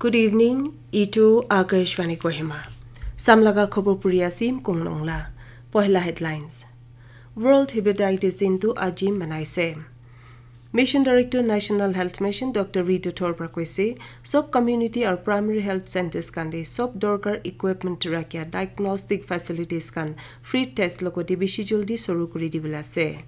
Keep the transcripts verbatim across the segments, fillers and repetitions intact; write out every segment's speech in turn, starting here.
Good evening, itu Akashvani Kohima. Samlaga khobor puri asim kong nongla. Pohila headlines. World Hepatitis Din tu aji manaise. Mission Director National Health Mission Doctor Ritu Thor pra koise, sob community aru primary health centers khan te sob dorkar equipment rakhia diagnostic facilities khan free test logote bishi joldi suru kuri dibole ase.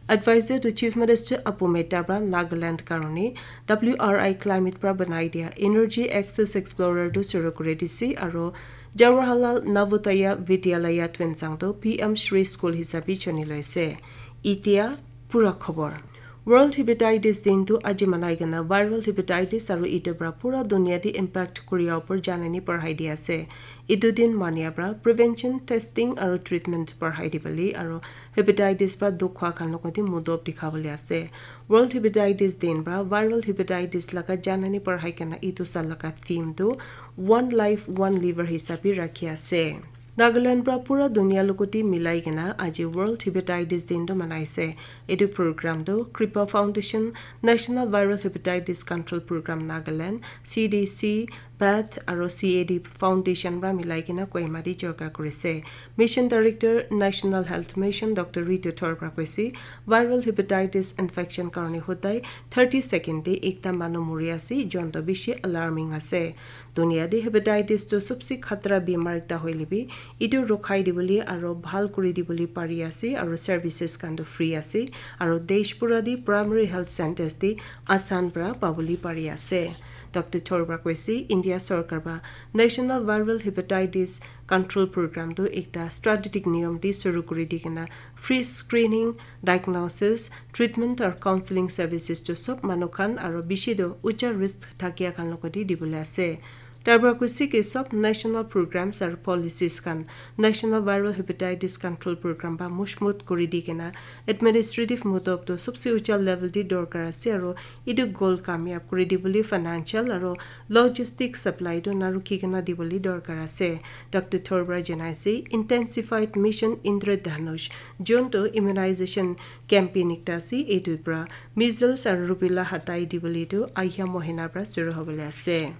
Advisor to Chief Minister Apu Mehta pra Nagaland karone W R I climate pra banai dia Energy Access Explorer tu suru kuri dise aru Jawaharlal Navodaya Vidyalaya Tuensang tu P M Shri School hisabe chuni loise. Itia pura khobor. World Hepatitis Din tu aji manai kena viral hepatitis aru itu pra pura dunia te impact kuria upor janani parhai di ase. Itu din mania pra prevention, testing aru treatment parhai di bali aru hepatitis pra dukh khwa khan logote mudop dikha bali ase. World Hepatitis Din pra viral hepatitis laga janani parhai kena itu sal laga theme tu One Life, One Liver hisabe rakhi ase. Nagaland pra pura dunia logote milai kena aji World Hepatitis Din tu manaise. Etu program tu Kripa Foundation, National Viral Hepatitis Control Program Nagaland, C D C, PATH aru C A D Foundation pra milai kena Kohima te jorka kurise. Mission Director, National Health Mission Doctor Ritu Thor pra koise, viral hepatitis infection karone hodai thirty second te ekta manu muri ase, jon to bishi alarming ase. Dunia te hepatitis tu sobse khatra bimar ekta hoile bi, itu rokhai dibole aru bhal kuri dibole pari ase aru services khan tu free ase aru desh pura te primary health centers te asan pra pabole pari ase. Doctor Thor pra koise, India sorkar pra National Viral Hepatitis Control Program tu ekta strategic niyom te suru kuri di kena free screening, diagnosis, treatment aru counseling services tu sob manu khan aru bishi tu ucha risk thakia khan logote dibole ase. Tar pra koise ki sob national programs aru policies khan National Viral Hepatitis Control Program pra mushmut kuri di kena administrative mudop tu sobse ucha level te dorkar ase aru itu goal kamyab kuri dibole financial aru logistic supply tu narukhi kena dibole dorkar ase. Doctor Thor pra janai ase, intensified Mission Indradhanush, jon tu immunization campaign ekta ase, itu pra measles aru rubella hatai dibole tu ahia mohina pra suru hobole ase.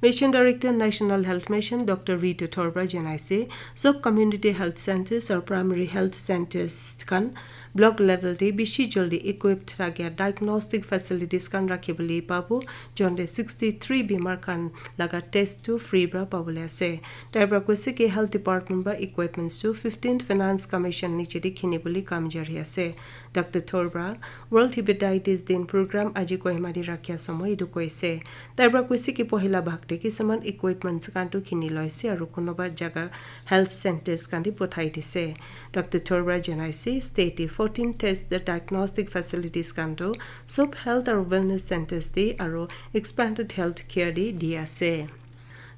Mission Director National Health Mission Doctor Ritu Thor pra janai ase, sob community health centers aru primary health centers khan block level te bishi joldi equipped thakia diagnostic facilities khan rakhi bole pabo, jon te sixty three bimar khan laga test tu free pra pabole ase. Tai pra koise ki health department pra equipments tu fifteenth Finance Commission niche te khini bole kam jari ase. Doctor Thor pra World Hepatitis Din program aji Kohima te rakhia somoy itu koise. Tai pra koise ki pohila bhag te kisaman equipments khan tu khini loise aru kunuba jaga health centers khan te pothai dise. Doctor Thor pra janai ase, state te fourteen test the diagnostic facilities khan tu sob health aru wellness centers te aru expanded health care te di ase.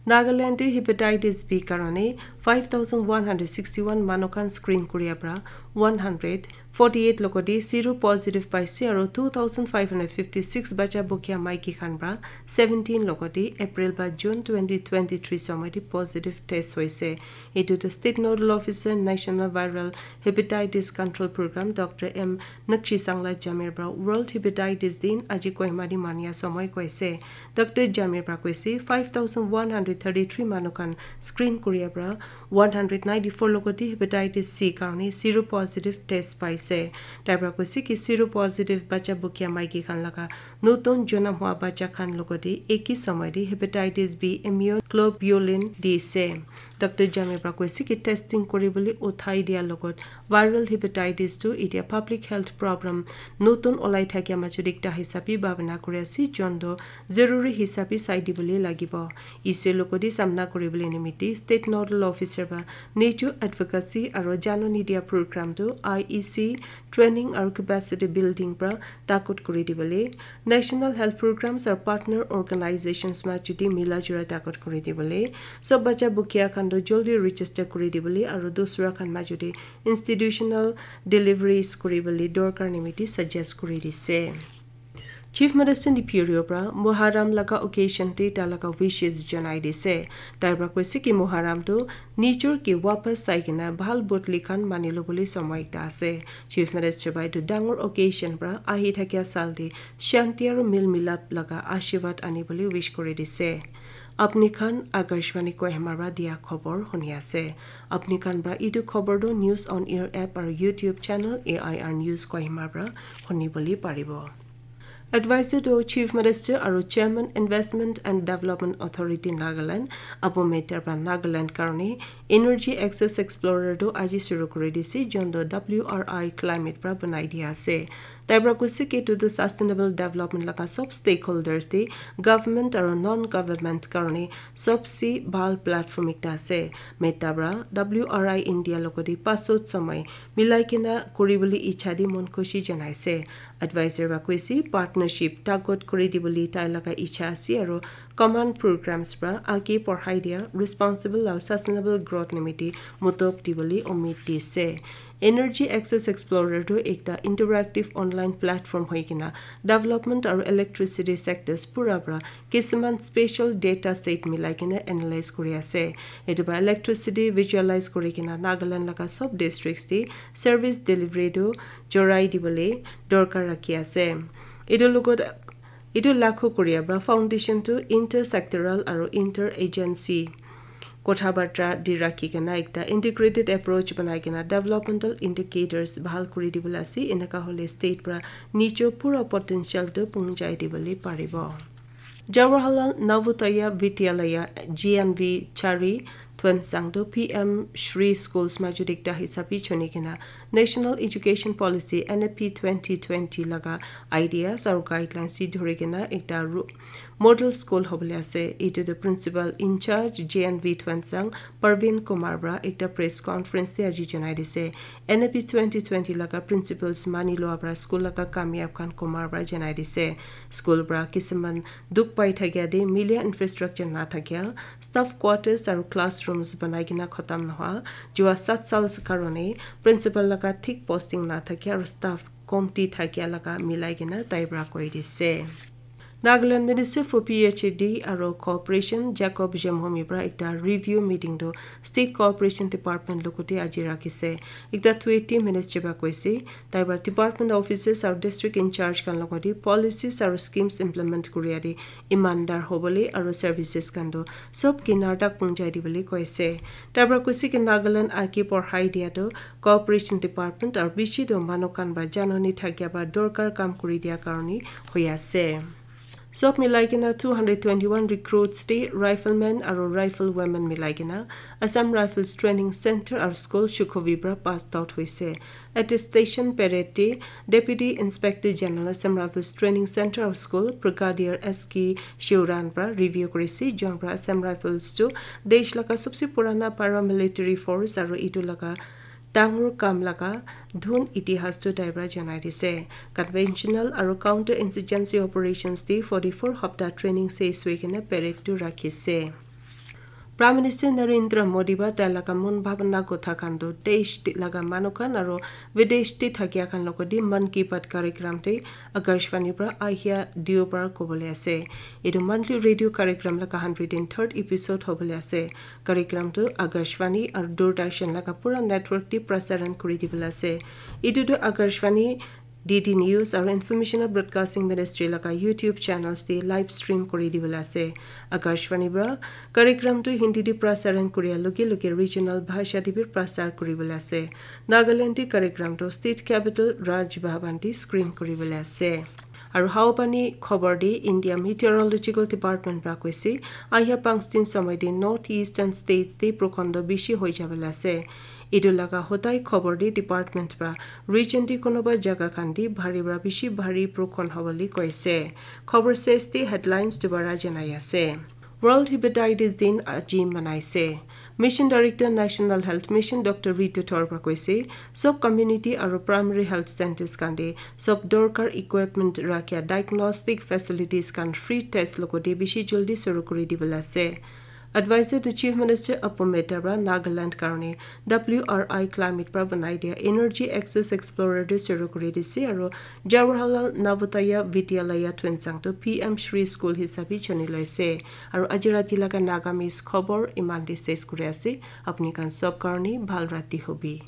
Nagaland te hepatitis B karone five thousand one hundred sixty one manu khan screen kuria pra one hundred forty eight logote sero positive paise aru two thousand five hundred fifty six bacha bukya maiki khan pra seventeen logote April ba June twenty twenty three somoy te positive test hoise. Itu tu State Nodal Officer National Viral Hepatitis Control Program Doctor M Nakshi Sangla Jamir pra World Hepatitis Din aji Kohima te mania somoy koise. Doctor Jamir pra koise five thousand one hundred thirty three manu khan screen kuria pra one hundred ninety four logote hepatitis C karone sero positive test paise. Tai pra koise ki sero positive bacha bukya maiki khan laga notun jonam hua bacha khan logote eki somoy te hepatitis B immunoglobulin dise. Doctor Jamir pra koise ki testing kuri bole uthai dia logot viral hepatitis tu itia public health problem notun olai thakia majot ekta hisabe bhabana kuri ase, jon tu zaruri hisabe sai dibole lagibo. Ise logote samna kuri bole nimite State Nodal Officer ba nature advocacy aru janani dia program tu I E C training aru capacity building pra takut kuri dibole, National Health Programs aru partner organizations ma chuti mila jura takut kuri dibole, sob bacha bukya khan tu joldi register kuri dibole aru dusra khan ma chuti institutional deliveries kuri bole dorkar nimite suggest kuri dise. Chief Minister Neiphiu Rio pra Muharram laga occasion te ta laga wishes janai dise. Tai pra koise ki Muharram tu nijor ke wapas sai kena bhal bodli khan mani lobole somoy ekta ase. Chief Minister bai etu dangor occasion pra ahi thakia sal te shanti aru mil milap laga ashirwad ani bole wish kuri dise. Apni khan Akashvani Kohima pra dia khobor huni ase. Apni khan pra itu khobor tu News on Air app aru YouTube channel A I R News Kohima pra huni bole paribo. Advisor to Chief Minister aru Chairman Investment and Development Authority Nagaland, Apu Mehta pra Nagaland karone Energy Access Explorer tu aji shuru kuri dise, jon tu W R I Climate pra banai dia ase. Tai pra koise ki itu tu sustainable development laga sob stakeholders te government aru non-government karone sobse bhal platform ekta ase. Mehta pra W R I India logote pasot samai milai kena kuribole ichha di mon khushi janaise. Advisor pra koise partnership tagot kuri dibole tai laga ichha ase aru common programs pra age porhai dia responsible aru sustainable growth nimite motop dibole umid dise. Energy Access Explorer tu ekta interactive online platform hoi kena development aru electricity sectors pura pra kisuman special data set milai kena analyze kuri ase. Etu pra electricity visualize kuri kena Nagaland laga sob districts te service delivery tu jorai dibole dorkar rakhi ase. Etu logot, etu lakho kuria pra foundation tu intersectoral aru interagency kotha barta di rakhi kena ekta integrated approach banai kena developmental indicators bhal kuri dibole ase. Eneka hole state pra nijo pura potential tu punjai dibole paribo. Jawaharlal Navodaya Vidyalaya G N V Chari Tuensang tu P M Shri Schools majut ekta hisabi chuni kena National Education Policy N E P twenty twenty laga ideas aru guidelines si dhuri kena ekta ru-, model school hobole ase. Itu tu principal in charge G N V Tuensang Parveen Kumar pra ekta press conference te aji janai dise. N E P twenty twenty laga principles mani lua pra school laga kamyab khan Kumar pra janai dise. School pra kisuman dukh pai thakia te milia infrastructure na thakia, staff quarters aru classrooms banai kena khatam nohoa, jua sat sal karone principal laga thik posting na thakia aru staff komti thakia laga milai kena tai pra koi dise. Nagaland Minister for P H A D aru Cooperation Jacob Jamhomi pra ekta review meeting tu State Cooperation Department logote aji rakhise. Ekta tweet te ministry pra koise, tai pra department offices aru district in charge khan logote policies aru schemes implement kuria te imandar hobole aru services khan tu sob kinar tak punjai dibole koise. Tai pra koise ki Nagaland age porhai dia tu Cooperation Department aru bishi tu manu khan pra janani thakia pra dorkar kam kuri dia karone hoi ase. Sob milai kena two hundred twenty-one recruits te riflemen aru rifle women milai kena Assam Rifles Training Center aru school Shukhovi pra passed out hoise. Attestation parade te Deputy Inspector General Assam Rifles Training Center aru school Brigadier S K Shiuran pra review kurise, jon pra Assam Rifles tu desh laga sobse purana paramilitary force aru itu laga dangor kam laga dhun itihas tu tai pra janai dise. Conventional aru counter insurgency operations te forty-four hapta training ses hoi kena parade tu rakhise. Prime Minister Narendra Modi pra tai laga mon bhabana kotha khan tu desh te laga manu khan aru videsh te thakia khan logote Mann Ki Baat karikram te Akashvani pra ahia Deobar kobole ase. Etu monthly radio karikram laga hundred and third episode hobole ase. Karikram tu Akashvani aru Doordarshan laga pura network te prasaran kuri dibole ase. Etu tu Akashvani, D D News aru Information and Broadcasting Ministry laga YouTube channels te live stream kuri dibole ase. Akashvani pra karikram tu Hindi te prasaran kuria loge loge regional bhasha te bi prasar kuribole ase. Nagaland te karikram tu state capital Raj Bhavan te screen kuribole ase. Aru hawapani khobor te India Meteorological Department pra koise, ahia panch din somoi te North Eastern States te prokhondo bishi hoi jabole ase. Etu laga hodai khobor te department pra region te konoba jaga khan te bhari pra bishi bhari prokhon hobole koise. Khobor ses te headlines dubara janai ase. World Hepatitis Din aji manaise. Mission Director National Health Mission Doctor Ritu Thor pra koise, sob community aru primary health centers khan te sob dorkar equipment rakhia diagnostic facilities khan free test logote bishi jaldi shuru kuri dibole ase. Advisor to Chief Minister Apu Mehta pra Nagaland karone W R I Climate pra banai dia Energy Access Explorer tu shuru kuri dise aru Jawaharlal Navodaya Vidyalaya Tuensang tu P M Shri School hisabe chuni loise. Aru aji rati laga Nagamese khobor iman te ses kuri ase. Apni khan sob karone bhal rati hobi.